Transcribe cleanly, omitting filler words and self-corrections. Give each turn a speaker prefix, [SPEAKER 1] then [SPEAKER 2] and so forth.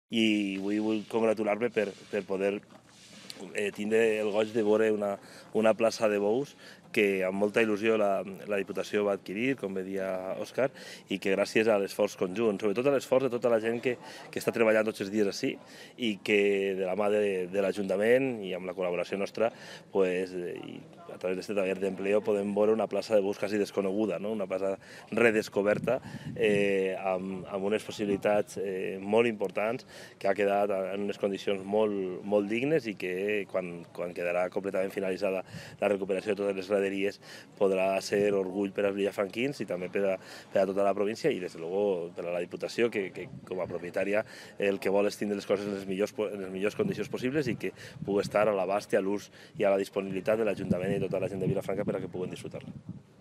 [SPEAKER 1] i vull congratular-me per poder tindre el goig de veure una plaça de bous que amb molta il·lusió la Diputació va adquirir, com bé dia Òscar, i que gràcies a l'esforç conjunt, sobretot a l'esforç de tota la gent que està treballant tots els dies així i que de la mà de l'Ajuntament i amb la col·laboració nostra, i a través d'aquest taller d'empleo podem veure una plaça de bous quasi desconeguda, una plaça redescoberta amb unes possibilitats molt importants, que ha quedat en unes condicions molt dignes i que quan quedarà completament finalitzada la recuperació de totes les graderies podrà ser orgull per als villafranquins i també per a tota la província i, des de luego, per a la Diputació, que com a propietària el que vol és tindre les coses en les millors condicions possibles i que pugui estar a l'abast i a l'ús i a la disponibilitat de l'Ajuntament i tota la gent de Vilafranca per a que puguen disfrutar-la.